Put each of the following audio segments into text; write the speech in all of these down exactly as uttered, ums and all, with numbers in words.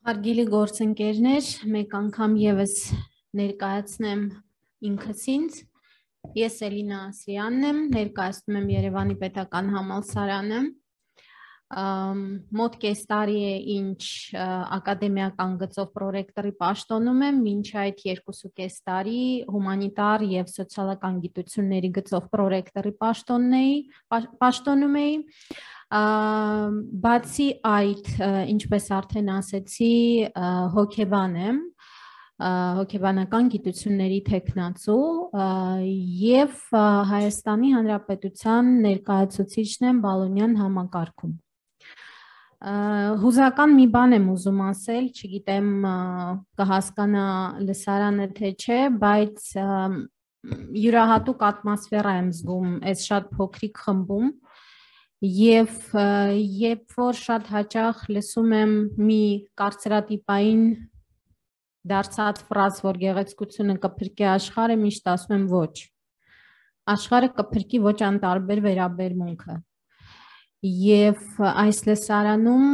Հարգելի գործընկերներ, մեկ անգամ եւս ներկայացնեմ ինքս ինձ։ Ես Էլինա Ասլյանն եմ, ներկայացնում եմ Երևանի Պետական Համալսարանը։ Մոտ կես տարի է ինչ ակադեմիական գծով պրոռեկտորի պաշտոնում եմ, մինչ այդ երկուսուկես տարի հումանիտար եւ սոցիալական գիտությունների գծով պրոռեկտորի պաշտոնում էի։ Բացի այդ, ինչպես արդեն ասեցի, հոգեբան եմ, հոգեբանական գիտությունների թեկնածու եւ Հայաստանի Հանրապետության ներկայացուցիչն եմ Բալոնյան համակարգում։ Հուզական մի բան եմ ուզում ասել, չգիտեմ կհասկանա լսարանը թե չէ, բայց յուրահատուկ ատմոսֆերա եմ զգում այս շատ փոքրիկ խմբում։ Եվ երբ որ շատ հաճախ լսում եմ մի կարծրատիպային դարձած ֆրազ, որ գեղեցկությունը կփրկի աշխարհը, միշտ ասում եմ ոչ։ Աշխարհը կփրկի ոչ անտարբեր վերաբերմունքը։ Եվ այս լսարանում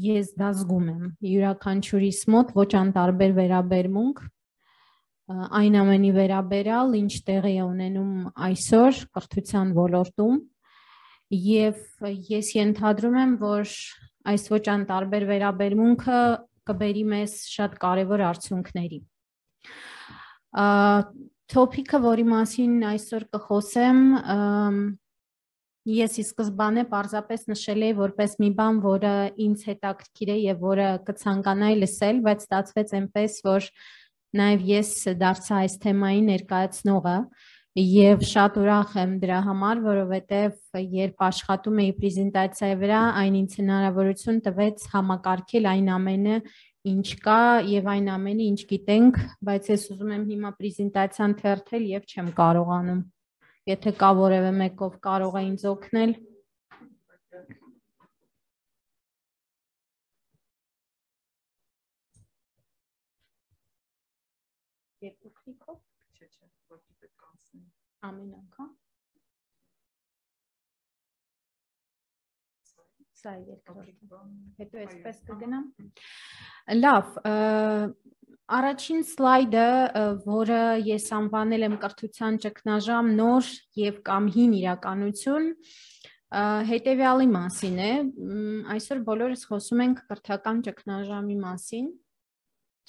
ես դա զգում եմ, յուրաքանչյուրիս մոտ ոչ անտարբեր վերաբերմունք, այն ամենի վերաբերյալ, ինչ տեղի է ունենում այսօր կրթության ոլորտում։ Եվ ես ենթադրում եմ, որ այս ոչ անտարբեր վերաբերմունքը կբերի մեզ շատ կարևոր արդյունքների։ Թոփիկը, որի մասին այսօր կխոսեմ, ես ի սկզբանե պարզապես նշել էի որպես մի բան, որը ինձ հետաքրքիր է եւ որը կցանկանայի լսել, բայց ստացվեց այնպես, որ նաեւ ես դարձա այս թեմայի ներկայացնողը։ Եվ շատ ուրախ եմ դրա համար, որովհետև երբ աշխատում էի պրեզենտացիայի վրա, այն ինձ հնարավորություն տվեց համակարգել այն ամենը, ինչ կա եւ այն ամենը, ինչ գիտենք, բայց ես ուզում եմ հիմա պրեզենտացիան թերթել եւ չեմ կարողանում։ Եթե կա որևէ մեկով կարող է ինձ օգնել։ Երկու քլիկով Ամեն անգամ։ Սա երկրորդը։ Հետո այսպես կգնամ։ Լավ, առաջին սլայդը, որը ես անվանել եմ կրթության ճգնաժամ նոր եւ կամ հին իրականություն, հետեւյալի մասին է։ Այսօր բոլորս խոսում ենք կրթական ճգնաժամի մասին։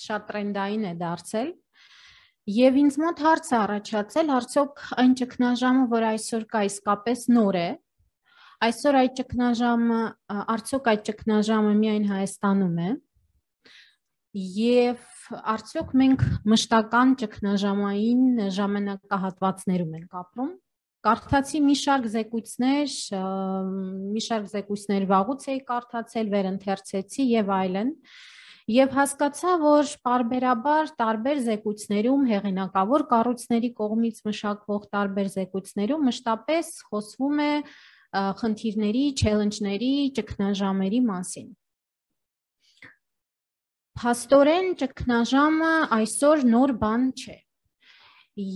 Շատ տրենդային է դարձել։ Եվ ինձ մոտ հարց է առաջացել, արդյոք այն ճգնաժամը, որ այսօր կա, իսկապես նոր է։ Այսօր այդ ճգնաժամը, արդյոք այդ ճգնաժամը միայն Հայաստանում է։ Եվ արդյոք մենք մշտական ճգնաժամային ժամանակահատվածներում ենք ապրում։ Կարդացի մի շարք զեկույցներ, մի շարք զեկույցներ վաղուց էի կարդացել, վերընթերցեցի եւ այլն։ Եվ հասկացա, որ պարբերաբար տարբեր զեկույցներում, հեղինակավոր կառույցների կողմից մշակվող տարբեր զեկույցներում մշտապես խոսվում է խնդիրների, չելենջների, ճգնաժամերի մասին։ Փաստորեն ճգնաժամը այսօր նոր բան չէ։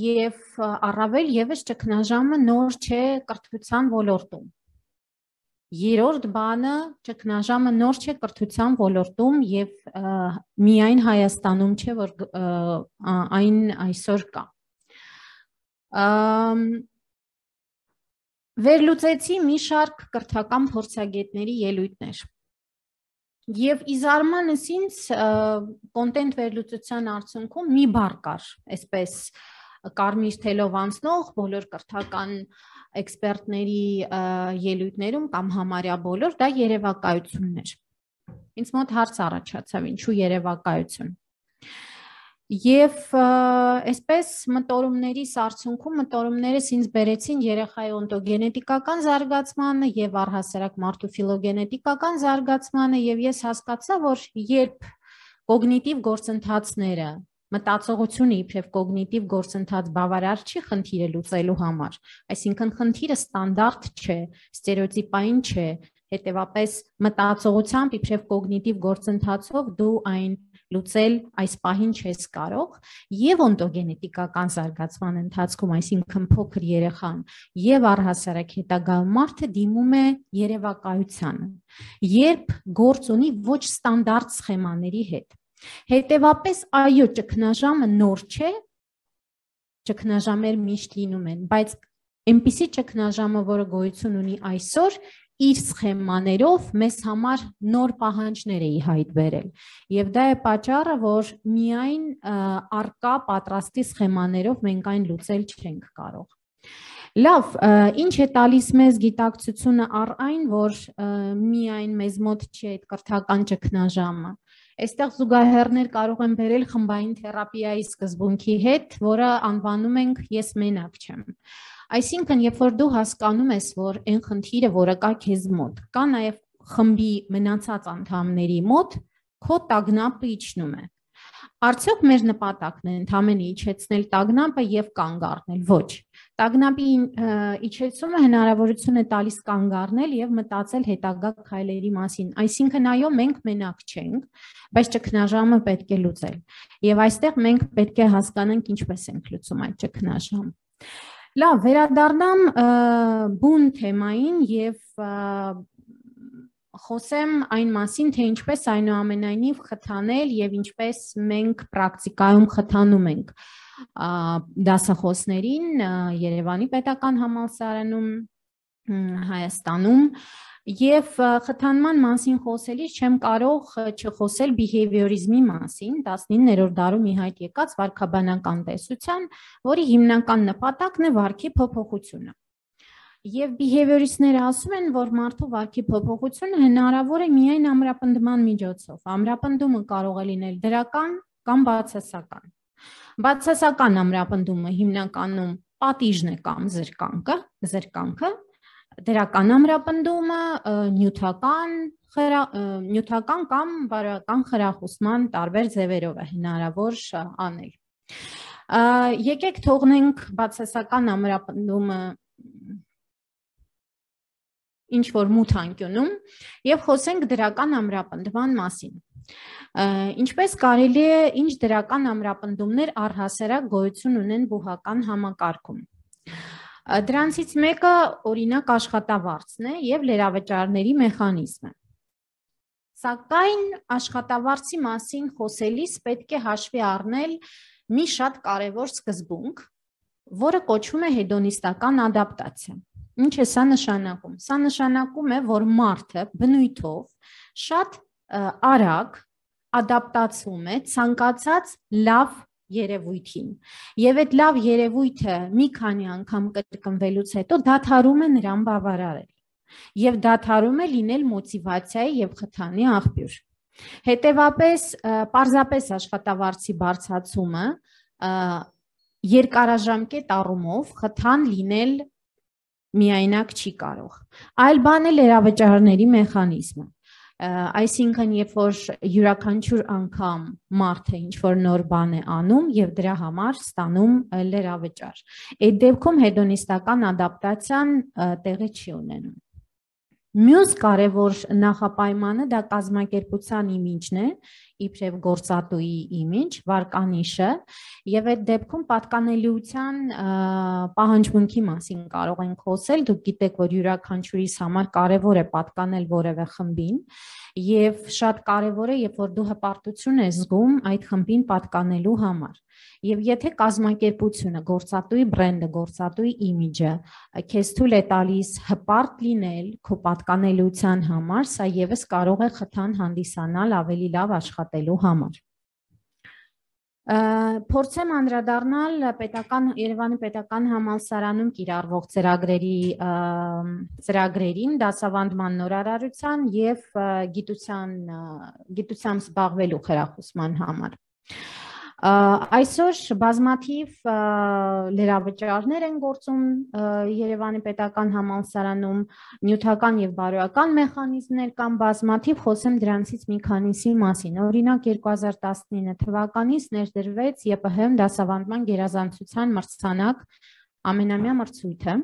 Եվ առավել եւս ճգնաժամը նոր չէ կրթության ոլորտում։ Երրորդ բանը ճգնաժամը նոր չէ կրթության ոլորտում եւ միայն Հայաստանում չէ, որ այն այսօր կա։ Վերլուծեցի մի շարք կրթական փորձագետների ելույթներ։ Եվ ի զարմանս ինձ կոնտենտ վերլուծության արդյունքում մի բառ կար, այսպես կարմիր թելով անցնող բոլոր կրթական էքսպերտների ելույթներում կամ համարյա բոլոր, դա երևակայությունն էր։ Ինձ մոտ հարց առաջացավ, ինչու երևակայություն։ Եվ այսպես մտորումներիս արդյունքում մտորումներս ինձ բերեցին երեխայի օնտոգենետիկական զարգացմանը եւ առհասարակ մարդու ֆիլոգենետիկական զարգացմանը, եւ ես հասկացա, որ երբ կոգնիտիվ գործընթացները մտածողությունը իբրև կոգնիտիվ գործընթաց բավարար չի խնդիրը լուծելու համար, այսինքն խնդիրը ստանդարտ չէ, ստերեոտիպային չէ, հետևապես մտածողությամբ իբրև կոգնիտիվ գործընթացով դու այն լուծել այս պահին չես կարող, եւ օնտոգենետիկական զարգացման ընթացքում, այսինքն փոքր երեխան եւ առհասարակ հետագա մարդը դիմում է երևակայությանը, երբ գործ ունի ոչ ստանդարտ սխեմաների հետ։ Հետևաբար, այո, ճգնաժամը նոր չէ, ճգնաժամեր միշտ լինում են, բայց այնպիսի ճգնաժամը, որը գոյություն ունի այսօր, իր սխեմաներով մեզ համար նոր պահանջներ է հայտ բերել, եւ դա է պատճառը, որ միայն արկա պատրաստի սխեմաներով մենք այն լուծել չենք կարող։ Լավ, ինչ է տալիս մեզ գիտակցությունը առ այն, որ միայն մեզ մոտ չի այդ կրթական ճգնաժամը։ Այստեղ զուգահեռներ կարող են բերել խմբային թերապիայի սկզբունքի հետ, որը անվանում ենք ես մենակ չեմ։ Այսինքն, երբ որ դու հասկանում ես, որ այն խնդիրը, որը կա քեզ մոտ, կա նաև խմբի մնացած անդամների մոտ, քո տագնապը իջնում է։ Արդյոք մեր նպատակն է ընդամենը իջեցնել տագնապը եւ կանգ առնել։ Ոչ։ Տագնապի իջեցումը հնարավորություն է տալիս կանգ առնել եւ մտածել հետագա քայլերի մասին։ Այսինքն, այո, մենք մենակ չենք, բայց ճգնաժամը պետք է լուծել։ Եվ այստեղ մենք պետք է հասկանանք ինչպես ենք լուծում այդ ճգնաժամը։ Լավ, վերադառնամ բուն թեմային եւ խոսեմ այն մասին, թե ինչպես այնուամենայնիվ խթանել եւ ինչպես մենք պրակտիկայում խթանում ենք դասախոսներին Երևանի պետական համալսարանում, Հայաստանում եւ խթանման մասին խոսելիս չեմ կարող չխոսել բիհեվիորիզմի մասին, տասնիններորդ դարում ի հայտ եկած վարքաբանական տեսության, որի հիմնական նպատակն է վարքի փոփոխությունը։ Եվ բիհեվիորիստները ասում են, որ մարդու վարքի փոփոխությունը հնարավոր է միայն ամրապնդման միջոցով։ Ամրապնդումը կարող է լինել դրական կամ բացասական։ Բացասական ամրապնդումը հիմնականում պատիժն է կամ զրկանքը, զրկանքը, դրական ամրապնդումը նյութական, նյութական կամ բարոյական խրախուսման տարբեր ձևերով է հնարավոր անել։ Եկեք թողնենք բացասական ամրապնդումը ինչ որ մութ անկյունում եւ խոսենք դրական ամրապնդման մասին։ Ինչպես կարելի է, ինչ դրական ամրապնդումներ առհասարակ գոյություն ունեն բուհական համակարգում։ Դրանցից մեկը օրինակ աշխատավարձն է եւ լրավճարների մեխանիզմը։ Սակայն աշխատավարձի մասին խոսելիս պետք է հաշվի առնել մի շատ կարևոր սկզբունք, որը կոչվում է հեդոնիստական ադապտացիա։ Ինչ է սա նշանակում։ Սա նշանակում է, որ մարդը բնույթով շատ արագ ադապտացվում է ցանկացած լավ երևույթին։ Եվ այդ լավ երևույթը մի քանի անգամ կրկնվելուց հետո դադարում է նրան բավարարել։ Եվ դադարում է լինել մոտիվացիայի եւ խթանի աղբյուր։ Հետևաբար, պարզապես աշխատավարձի բարձրացումը երկարաժամկետ առումով խթան լինել միայնակ չի կարող։ Այլ բան է լրավճարների մեխանիզմը։ Այսինքն, երբ որ յուրաքանչյուր անգամ մարդը ինչ-որ նոր բան է անում եւ դրա համար ստանում լրավճար։ Այդ դեպքում հեդոնիստական ադապտացիան տեղի չի ունենում։ Մյուս կարևոր նախապայմանը դա կազմակերպության իմիջն է, իբրև գործատուի իմիջ, վարկանիշը, եւ այդ դեպքում պատկանելիության պահանջմունքի մասին կարող ենք խոսել, դուք գիտեք, որ յուրաքանչյուրիս համար կարևոր է պատկանել որևէ խմբին, եւ շատ կարևոր է, երբ որ դու հպարտություն ես զգում այդ խմբին պատկանելու համար։ Եվ եթե կազմակերպությունը, գործատուի բրենդը, գործատուի իմիջը քեզ թույլ է տալիս հպարտ լինել քո պատկանելիության համար, սա եւս կարող է խթան հանդիսանալ ավելի լավ աշխատելու համար։ Փորձեմ անդրադառնալ պետական Երևանի պետական համալսարանում կիրառվող ծրագրերի ծրագրերին, դասավանդման նորարարության եւ գիտության գիտությամբ զբաղվելու խրախուսման համար։ Այսօր բազմաթիվ լրավճարներ են գործում Երևանի պետական համալսարանում, նյութական եւ բարոյական մեխանիզմներ կան բազմաթիվ, խոսեմ դրանցից մի քանիսի մասին։ Օրինակ երկու հազար տասնինը թվականից ներդրվեց ԵՊՀ-ում դասավանդման գերազանցության մրցանակ ամենամյա մրցույթը։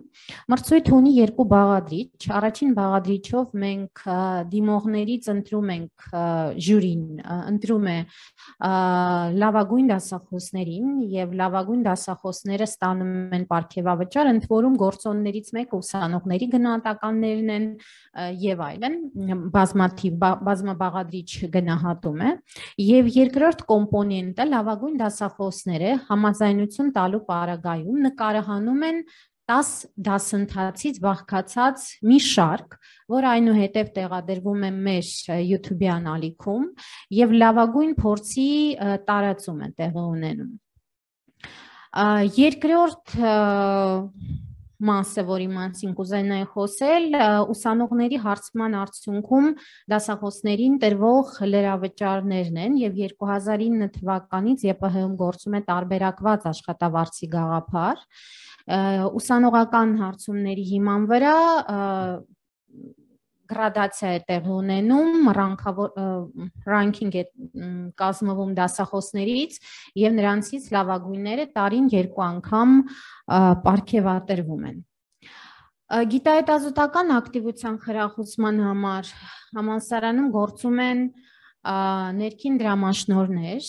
Մրցույթը ունի երկու բաղադրիչ։ Առաջին բաղադրիչով մենք դիմողներից ընտրում ենք ժյուրին, ընտրում է լավագույն դասախոսներին եւ լավագույն դասախոսները ստանում են պարգևավճար, ընդ որում գործոններից մեկը ուսանողների գնահատականներն են եւ այլն, բազմաթիվ բազմաբաղադրիչ գնահատում է, եւ երկրորդ կոմպոնենտը լավագույն դասախոսները համաձայնություն տալու պարագայում նկարահանում են տաս դասընթացից բաղկացած մի շարք, որ այնուհետև տեղադրվում է մեր YouTube-յան ալիքում եւ լավագույն փորձի տարածում է տեղի ունենում։ Երկրորդ մասը, որի մասին կուզենայի խոսել, ուսանողների հարցման արդյունքում դասախոսներին տրվող լրավճարներն են եւ երկու հազար ինը թվականից ԵՊՀ-ում գործում է տարբերակված աշխատավարձի գաղափար։ Ուսանողական հարցումների հիման վրա գրադացիա է տեղի ունենում, ռանքինգ է կազմվում դասախոսներից եւ նրանցից լավագույնները տարին երկու անգամ պարգևատրվում են։ Գիտահետազոտական ակտիվության խրախուսման համար համալսարանում գործում են ներքին դրամաշնորհներ,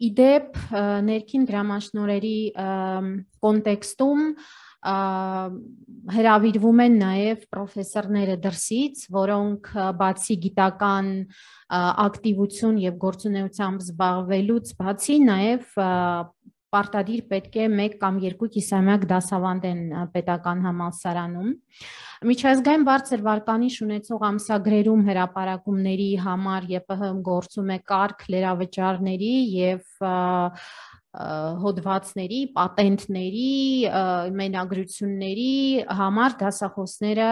իդեպ ներքին դրամաշնորհերի կոնտեքստում հրավիրվում են նաև պրոֆեսորները դրսից, որոնք բացի գիտական ակտիվություն եւ գործունեությամբ զբաղվելուց բացի նաև պարտադիր պետք է մեկ կամ երկու կիսամյակ դասավանդեն պետական համալսարանում։ Միջազգային բարձր վարկանիշ ունեցող ամսագրերում հրապարակումների համար ԵՊՀ-ում գործում է կարգ լրավճարների եւ հոդվածների, պատենտների, մենագրությունների համար դասախոսները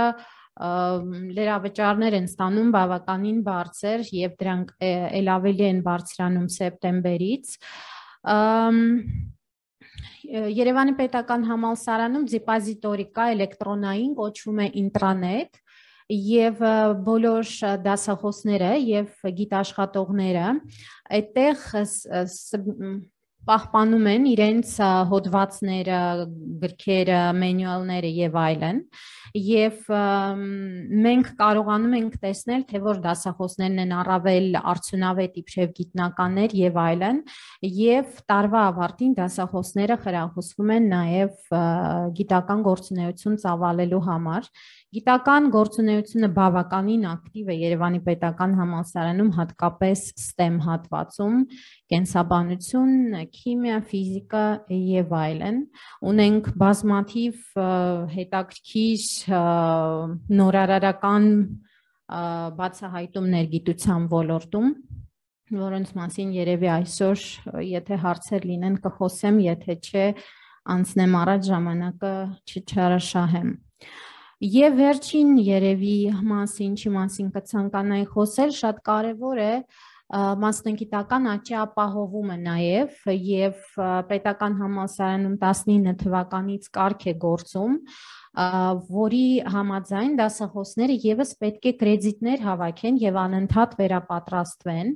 լրավճարներ են ստանում բավականին բարձր եւ դրանք ել ավելի են բարձրանում սեպտեմբերից։ Երևանի պետական համալսարանում դիպոզիտորի կա, էլեկտրոնային, կոչվում է ինտրանետ եւ բոլոր դասախոսները եւ գիտաշխատողները այդտեղ պահպանում են իրենց հոդվածները, գրքերը, մենյուալները եւ այլն եւ մենք կարողանում ենք տեսնել, թե որ դասախոսներն են առավել արդյունավետ իբրև գիտնականներ եւ այլն եւ տարվա ավարտին դասախոսները խրախուսվում են նաեւ գիտական գործունեություն ծավալելու համար։ Գիտական գործունեությունը բավականին ակտիվ է Երևանի պետական համալսարանում, հատկապես STEM հատվածում, կենսաբանություն, քիմիա, ֆիզիկա եւ այլն։ Ունենք բազմաթիվ հետաքրքիր նորարարական բացահայտումներ գիտության ոլորտում, որոնց մասին երևի այսօր, եթե հարցեր լինեն, կխոսեմ, եթե չէ, անցնեմ առաջ, ժամանակը չչարաշահեմ։ Եվ վերջին երևի մասին, ինչի մասին կցանկանայի խոսել, շատ կարևոր է մասնագիտական աճի ապահովումը նաև եւ պետական համալսարանում տասնինը թվականից կարգ է գործում, որի համաձայն դասախոսները եւս պետք է կրեդիտներ հավաքեն եւ անընդհատ վերապատրաստվեն։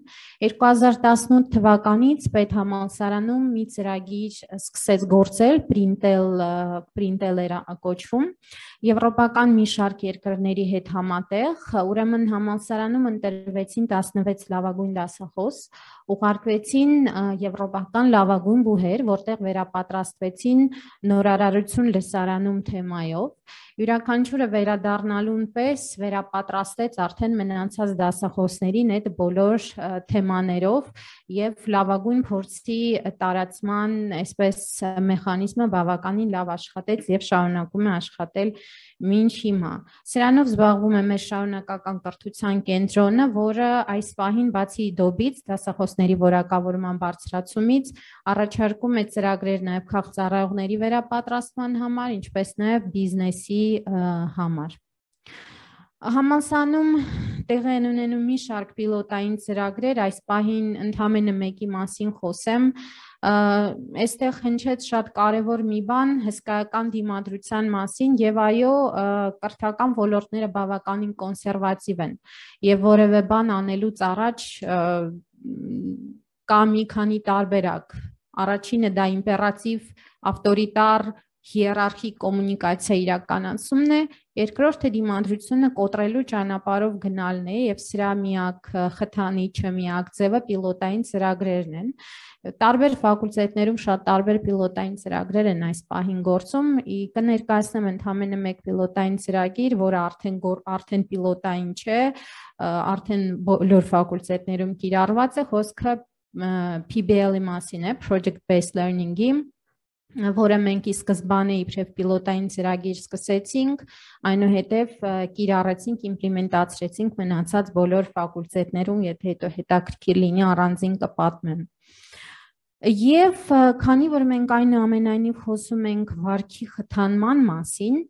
երկու հազար տասնութ թվականից պետհամալսարանում մի ծրագիր սկսեց գործել, Printel, Printel էր կոչվում, եվրոպական մի շարք երկրների հետ համատեղ, ուրեմն համալսարանում ընտրվեցին տասնվեց լավագույն դասախոս, ուղարկվեցին եվրոպական լավագույն բուհեր, որտեղ վերապատրաստվեցին նորարարություն լսարանում թեմայով, յուրաքանչյուրը վերադառնալուն պես վերապատրաստեց արդեն մնացած դասախոսներին այդ բոլոր թեմաներով եւ լավագույն փորձի տարածման այսպես մեխանիզմը բավականին լավ աշխատեց եւ շարունակում է աշխատել մինչ հիմա։ Սրանով զբաղվում է մեր շարունակական կրթության կենտրոնը, որը այս պահին բացի դոբից, դասախոսների որակավորման բարձրացումից, առաջարկում է ծրագրեր նաև քաղցառայողների վերապատրաստման համար, ինչպես նաև բիզնեսի համար։ Համալսարանում տեղի են ունենում մի շարք պիլոտային ծրագրեր, այս պահին ընդամենը մեկի մասին խոսեմ, այստեղ հնչեց շատ կարևոր մի բան հսկայական դիմադրության մասին եւ այո, կրթական ոլորտները բավականին կոնսերվատիվ են եւ որևէ բան անելուց առաջ կա մի քանի տարբերակ։ Առաջինը դա իմպերատիվ ավտորիտար հիերարխիկ կոմունիկացիա իրականացումն է, երկրորդը դիմադրությունը կոտրելու ճանապարհով գնալն է եւ սրա միակ խթանիչը, միակ ձևը պիլոտային ծրագրերն են։ Տարբեր ֆակուլտետներում շատ տարբեր պիլոտային ծրագրեր են այս պահին գործում, կներկայացնեմ ընդամենը մեկ պիլոտային ծրագիր, որը արդեն արդեն պիլոտային չէ, արդեն բոլոր ֆակուլտետներում կիրառված է, խոսքը P B L-ի մասին է, Project Based Learning-ի, որը մենք ի սկզբանե իբրև պիլոտային ծրագիր սկսեցինք, այնուհետև կիրառեցինք, իմպլեմենտացրեցինք մնացած բոլոր ֆակուլտետներում, եթե հետո հետաքրքիր լինի առանձին կպատմեմ։ Եվ քանի որ մենք այն ամենայնիվ խոսում ենք վարքի խթանման մասին,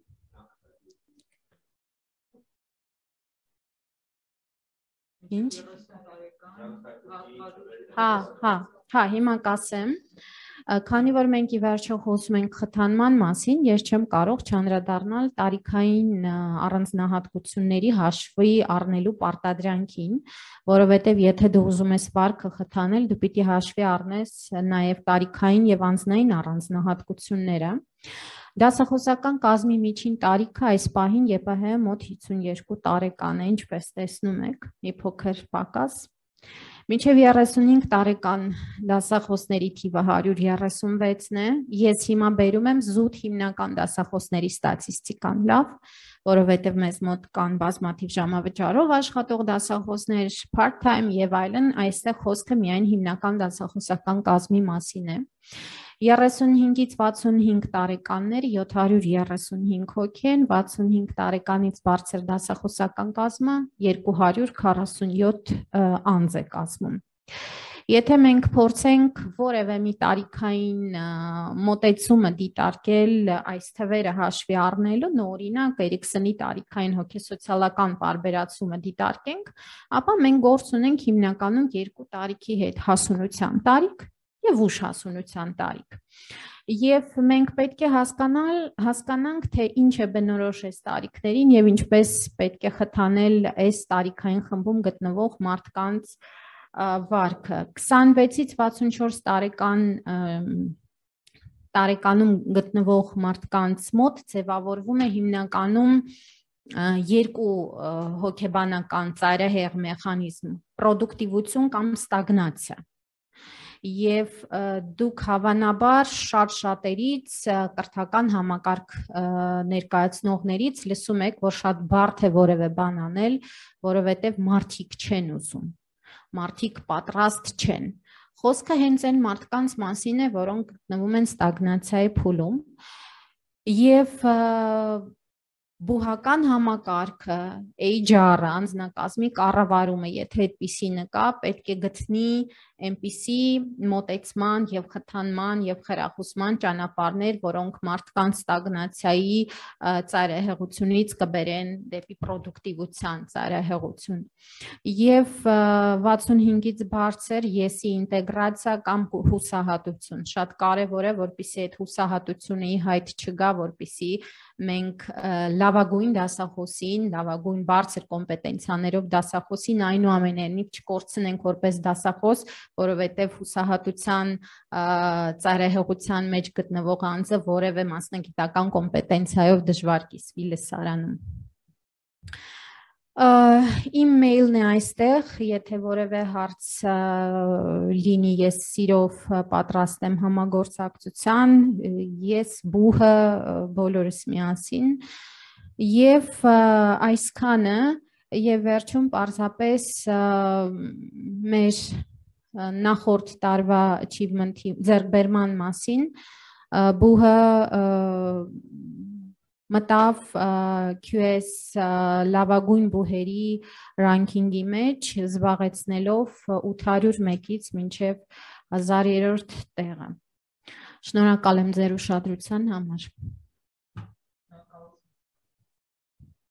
ինչ? Հա, հա, հա, հիմա կասեմ, քանի որ մենք ի վերջո խոսում ենք խթանման մասին, ես չեմ կարող չանդրադառնալ տարիքային առանձնահատկությունների հաշվի առնելու պարտադրանքին, որովհետև եթե դու ուզում ես վարքը խթանել, դու պիտի հաշվի առնես նաև տարիքային եւ անձնային առանձնահատկությունները։ Դասախոսական կազմի միջին տարիքը այս պահին Ե P H մոտ հիսունյոթ տարեկան է, ինչպես տեսնում եք, մի փոքր պակաս։ Մինչև երեսունհինգ տարեկան դասախոսների թիվը հարյուր երեսունվեցն է, ես հիմա բերում եմ զուտ հիմնական դասախոսների ստատիստիկան, լավ, որովհետև մեզ մոտ կան բազմաթիվ ժամավճարով աշխատող դասախոսներ, part-time եւ այլն, այստեղ խոսքը միայն հիմնական դասախոսական կազմի մասին է։ երեսունհինգից վաթսունհինգ տարեկաններ յոթ հարյուր երեսունհինգ հոգի են, վաթսունհինգ տարեկանից բարձր դասախոսական կազմը երկու հարյուր քառասունյոթ անձ է կազմում։ Եթե մենք փորձենք որևէ մի տարիքային մոտեցումը դիտարկել այս թվերը հաշվի առնելու, օրինակ Էրիքսոնի տարիքային հոգեսոցիալական պարբերացումը դիտարկենք, ապա մենք գործ ունենք հիմնականում երկու տարիքի հետ՝ հասունության տարիք եւ ուշ հասունության տարիք։ Եվ մենք պետք է հասկանալ, հասկանանք, թե ինչ է բնորոշ այս տարիքներին եւ ինչպես պետք է խթանել այս տարիքային խմբում գտնվող մարդկանց վարքը։ քսանվեցից վաթսունչորս տարեկան տարեկանում գտնվող մարդկանց մոտ ձևավորվում է հիմնականում երկու հոգեբանական ծայրահեղ մեխանիզմ՝ պրոդուկտիվություն կամ ստագնացիա։ Եվ դուք հավանաբար շատ շատերից կրթական համակարգ ներկայացնողներից լսում եք, որ շատ բարդ է որևէ բան անել, որովհետև մարդիկ չեն ուզում, մարդիկ պատրաստ չեն։ Խոսքը հենց այն մարդկանց մասին է, որոնք գտնվում են ստագնացիայի փուլում, եւ բուհական համակարգը, H R-ը, անձնակազմի կառավարումը, եթե այդպիսի նկա, պետք է գտնի այնպիսի մոտեցման եւ խթանման եւ խրախուսման ճանապարհներ, որոնք մարդկանց ստագնացիայի ծայրահեղությունից կբերեն դեպի պրոդուկտիվության ծայրահեղություն։ Եվ վաթսունհինգից բարձր եսի ինտեգրացիա կամ հուսահատություն շատ կարևոր է, որպեսզի այդ հուսահատությունը ի հայտ չգա, որպեսզի մենք լավագույն դասախոսին, լավագույն բարձր կոմպետենցիաներով դասախոսին այնուամենայնիվ չկորցնենք որպես դասախոս, որովհետև հուսահատության ծայրահեղության մեջ գտնվող անձը որևէ մասնագիտական կոմպետենցիայով դժվար կիսվի լսարանում։ Իմ մեյլն է այստեղ, եթե որևէ հարց լինի, ես սիրով պատրաստ եմ համագործակցության, ես բուհը բոլորս միասին, եւ այսքանը եւ վերջում պարզապես մեր նախորդ տարվա achievement-ի ձեռքբերման մասին, բուհը մտավ Q S լավագույն բուհերի ռանկինգի մեջ, զբաղեցնելով ութ հարյուր մեկից մինչև հազար երրորդ տեղը։ Շնորհակալ եմ ձեր ուշադրության համար։